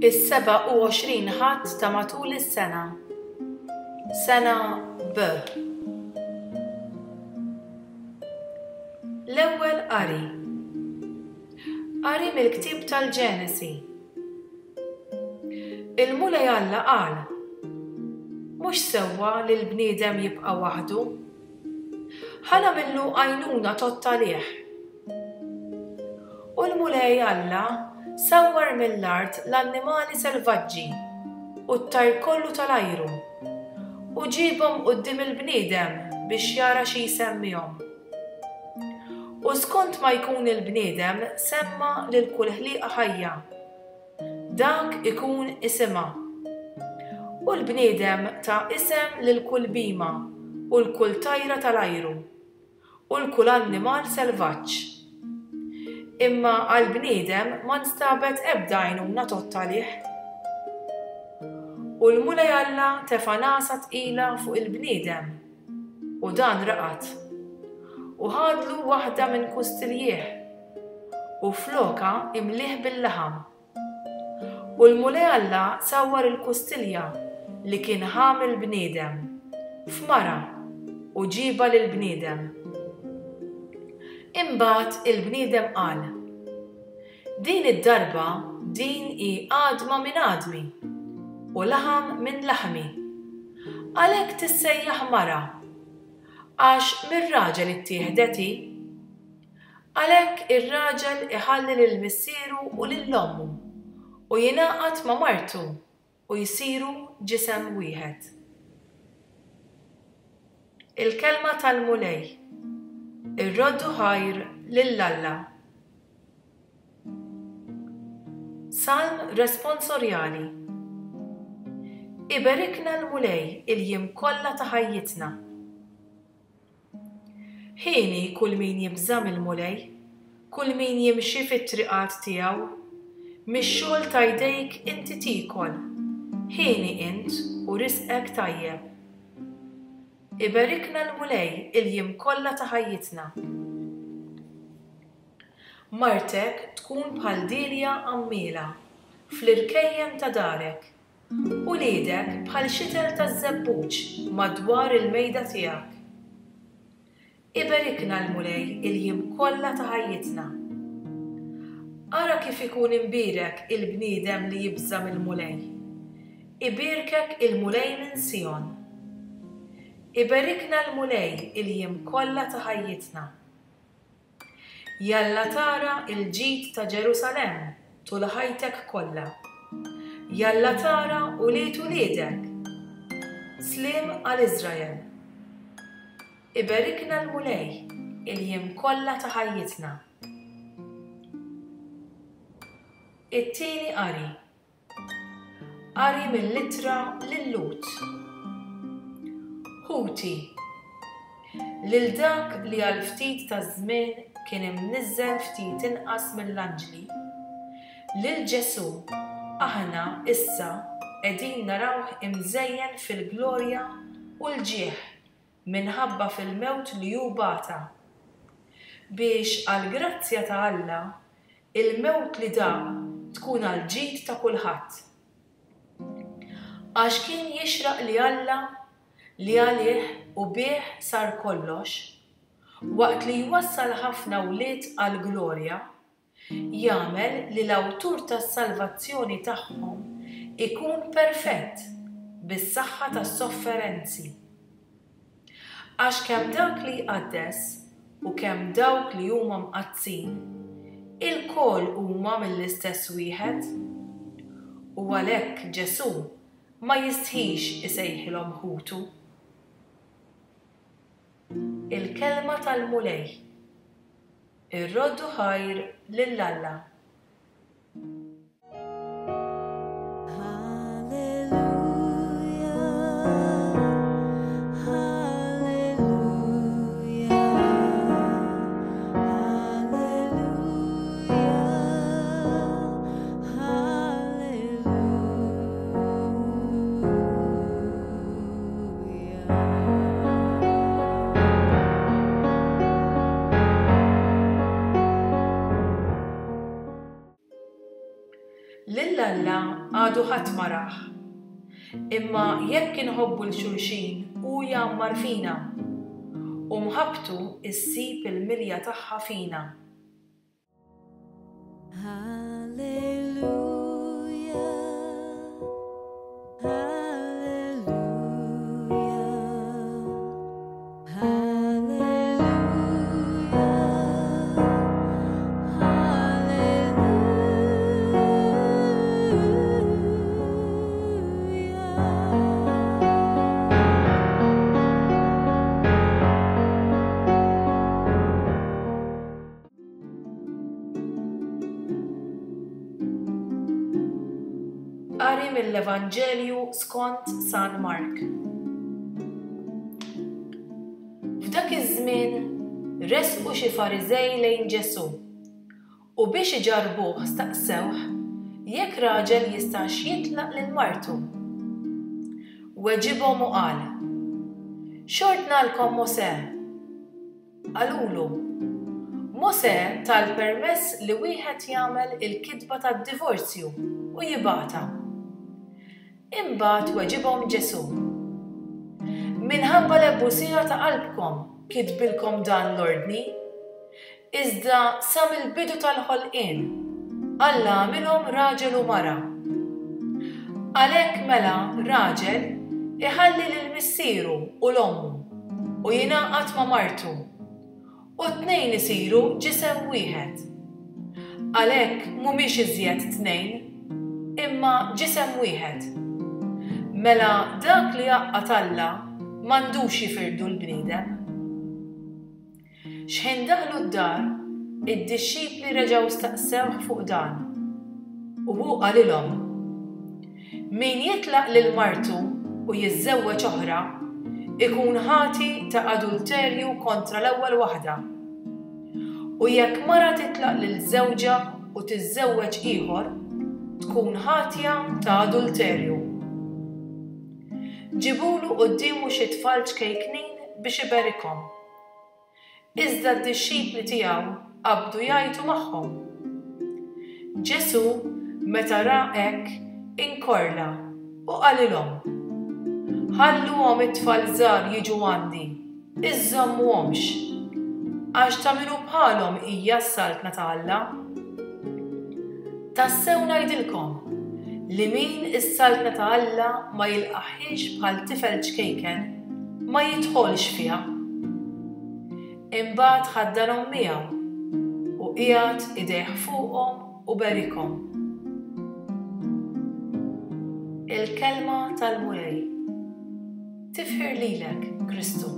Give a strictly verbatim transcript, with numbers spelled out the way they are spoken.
Is-sebgħa u għoxrin Ħadd ta' matul is-sena. Sena B. L-ewwel qari. Qari mill-ktieb tal-Ġenesi. Il-Mulej Alla qal, Mhux sewwa li l-bniedem jibqa' waħdu. Ħa nagħmillu għajnuna tgħodd għalih. U l-Mulej Alla sawwar mill-art l-annimali selvaġġi u t-tajr kollu tal-ajru, u ġiebhom quddiem il-bniedem biex jara xi jsemmihom. U skont ma jkun il-bniedem semma lil kull ħliqa ħajja, dak ikun isimha. U l-bniedem ta isem lil kull bhima u 'l kull tajra tal-ajru, u 'l kull annimal selvaġġ. Imma għall-bniedem ma nstabet ebda għajnuna tgħodd għalih. U l-Mulej Alla tefa' nagħsa tqila fuq il-bniedem, u dan raqad. U ħadlu waħda minn kustiljih, u flokha imlieh bil-laħam. U l-Mulej Alla sawwar il-kustilja li kien ħa mill-bniedem, f'mara, u ġiebha lill-bniedem. Imbagħad il-bniedem qal, Din id-darba din hi għadma minn għadmi u laħam minn laħmi. Għalhekk tissejjaħ mara, għax mir-raġel ittieħdet hi. Għalhekk ir-raġel iħalli lil missieru u lil ommu u jingħaqad ma' martu u jsiru ġisem wieħed. Il-Kelma tal-Mulej. Irroddu ħajr lil Alla. Salm responsorjali. Iberikna l-Mulej il-jiem kollha ta' ħajjitna. Hieni kull min jibża' mill-Mulej, kull min jimxi fit-triqat tiegħu. Mix-xogħol ta' jdejk inti tiekol, hieni int u risqek tajjeb. Iberikna l-Mulej il-jiem kollha ta' ħajjitna. Martek tkun bħal dielja għammiela fl-irkejjen ta' darek, uliedek bħal xitel taż-żebbuġ madwar il-mejda tiegħek. Iberikna l-Mulej il-jiem kollha ta' ħajjitna. Ara kif ikun imbierek il-bniedem li jibża' mill-Mulej. Ibierkek il-Mulej minn Sijon. Iberikna l-Mulej il-jiem kollha ta' ħajjitna. Jalla tara l-ġid ta' Ġerusalemm tul ħajtek kollha. Jalla tara ulied uliedek. Sliem għal Iżrael. Iberikna l-Mulej il-jiem kollha ta' ħajjitna. It-tieni qari. Qari mill-Ittra lil-Lhud. Ħuti, lil dak li għal ftit taż-żmien kien imniżżel ftit inqas mill-anġli, lil Ġesù aħna issa qegħdin narawh imżejjen fil-glorja u l-ġieħ minħabba fil-mewt li hu bata, biex għall-grazzja ta' Alla il-mewt li daq tkun għall-ġid ta' kulħadd. Għax kien jixraq li Alla, li għalih u bih sar kollox, waqt li jwassal ħafna wlied għall-glorja, jagħmel li l-awtur tas-salvazzjoni tagħhom ikun perfett bis-saħħa tas-sofferenzi. Għax kemm dak li jqaddes u kemm dawk li huma mqaddsin, ilkoll huma mill-istess wieħed. U għalhekk Ġesù ma jistħix isejħilhom ħutu. Il-Kelma tal-Mulej. Irroddu ħajr lil Alla. Lil Alla għadu ħadd ma rah. Imma jekk inħobbu 'l xulxin, hu jgħammar fina, u mħabbtu ssib il-milja tagħha fina. Hallelujah, hallelujah, hallelujah, Qari mill-Evanġelju skont San Mark. F'dak iż-żmien resqu xi Fariżej lejn Ġesù u biex iġarrbuh staqsewh jekk raġel jistax jitlaq lil martu. Weġibhom u qal: X'ordnalkom Mosè? Qalulu: Mosè ta l-permess li wieħed jagħmel il-kitba tad-divorzju u jibgħatha. Imbagħad weġibhom Ġesù: Minħabba l-ebusija ta' qalbkom kitbilkom dan l-ordni, iżda sa mill-bidu tal-ħolqien Alla għamilhom raġel u mara. Għalhekk mela raġel iħalli lil missieru u l-ommu u jingħaqad ma' martu, u t-tnejn isiru ġisem wieħed. Għalhekk mhumiex iżjed tnejn, imma ġisem wieħed. Mela dak li għaqqad Alla m'għandux jifirdu l-bniedem. Xħin daħlu d-dar, id-dixxipli reġgħu staqsewh fuq dan. U hu qalilhom: Min jitlaq lil martu u jiżżewweġ oħra, ikun ħati ta' adulterju kontra l-ewwel waħda. U jekk mara titlaq lil żewġha u tiżżewweġ ieħor, tkun ħatja ta' adulterju. Ġibulu quddiemu xi tfal ċkejknin biex iberikhom. Iżda d-dixxipli tiegħu qabdu jgħajtu magħhom. Ġesù meta ra hekk inkorla u qalilhom: Ħalluhom it-tfal żgħar jiġu għandi, iżżommuhomx, għax ta' min hu bħalhom hija s-saltna ta' Alla. Tassew ngħidilkom li min is-saltna ta' Alla ma jilqaħiex bħal tifel ċkejken ma jidħolx fiha. Imbagħad ħaddanhom miegħu u qiegħed idejh fuqhom u berikhom. Il-kelma tal-Mulej. Tifħir lilek, Kristu.